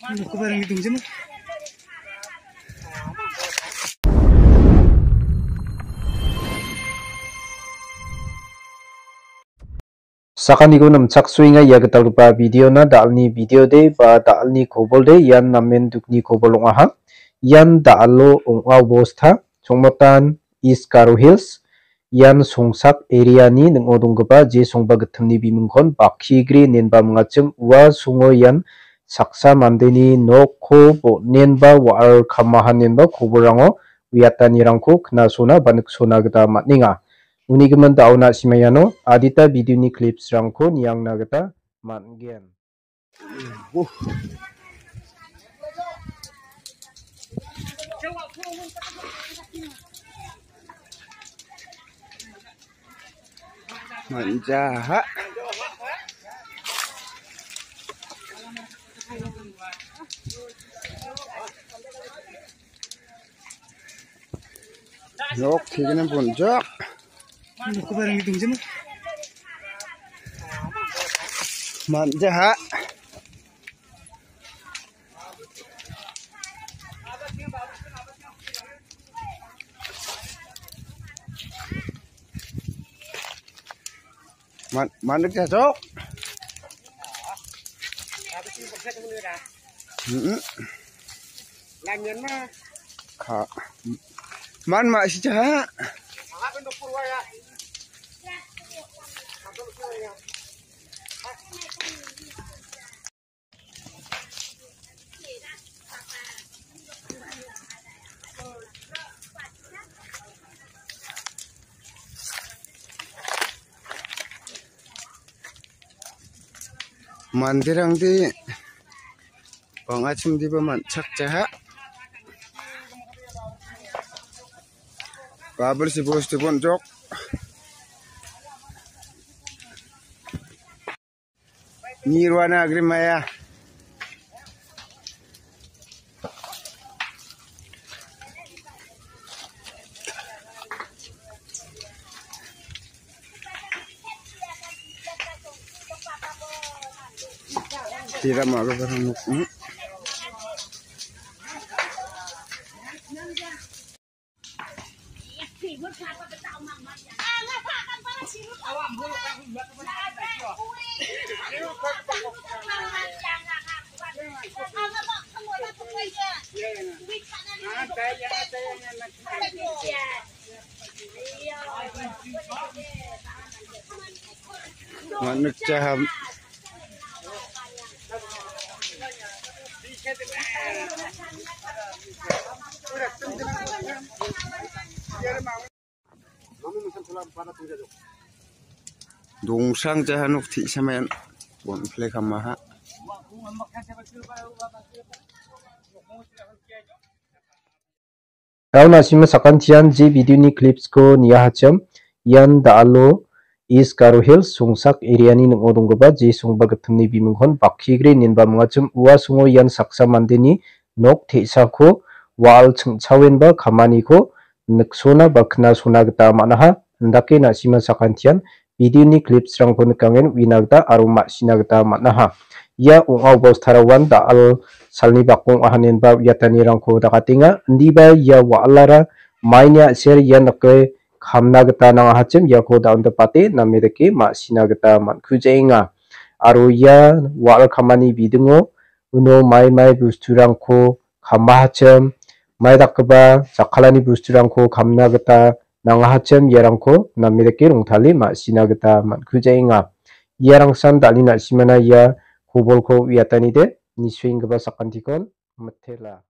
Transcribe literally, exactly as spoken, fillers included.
Sakaniko namchaksoenga ia gitalgipa videona, da·alni videode ba da·alni kobolde, ian namen dukni kobol ong·aha. Ian da·alo ong·a obosta, Chongmotan, East Garo Hills, ian Songsak areani ning·o donggipa je songba gittimni bimingkon Bakhigre inenba mingachim, ua songo ian saksa mandeni nokko bon·enba wa·al kamaha inenba kobolrango uiatanirangko knasona ba niksona gita man·enga. Uni gimin da·o na·sima iano adita videoni clipsrangko niangna gita man·gen. Man·jaha. Nok thigna bonjak. Man·jaha. Man, man·jaha, jok. Mm-mm. Ka. Man ma si jaha. Manderangde bang·achimdiba man·chakjaha. Babel si bostu bonjok. Nirwana agrimaya. Tira maga barang. Manuk jaham. Dongsang jaha nok te·sa mayan. Bonplek hamaha. Daun asima sakantian je videoni clipsko niahachim, ian da·alo East Garo Hills Songsak areani ning·o donggipa je songba gittimni bimingkon Bakhigre inenba mingachim. Ua songo ian saksa mandeni nok te·sako wa·al ching·chawenba kamaniko niksona ba knasona gita man·aha. Indake na·sima sakantian videoni clipsrangko nikangen uina gita aro ma·sina gita man·aha. Ia ong·a obostaraoan da·al salni bakong ahanenba uiatanirangko dakatenga. Indiba ia wa·alara maini a·ser ia nike kamna gita nangahachim iako da·ondipate name dake ma·sina gita man·kujaenga. Aro ia wa·al kamani bidingo uno mai mai bosturangko kamahachim, mai dakgipa jakkalani bosturangko kamna gita nangahachim, iarangko name dake rongtale ma·sina gita man·kujaenga. Iarangsan da·alni na·simana ia kobolko uiatanide nisuenggipa sakantikon mitela.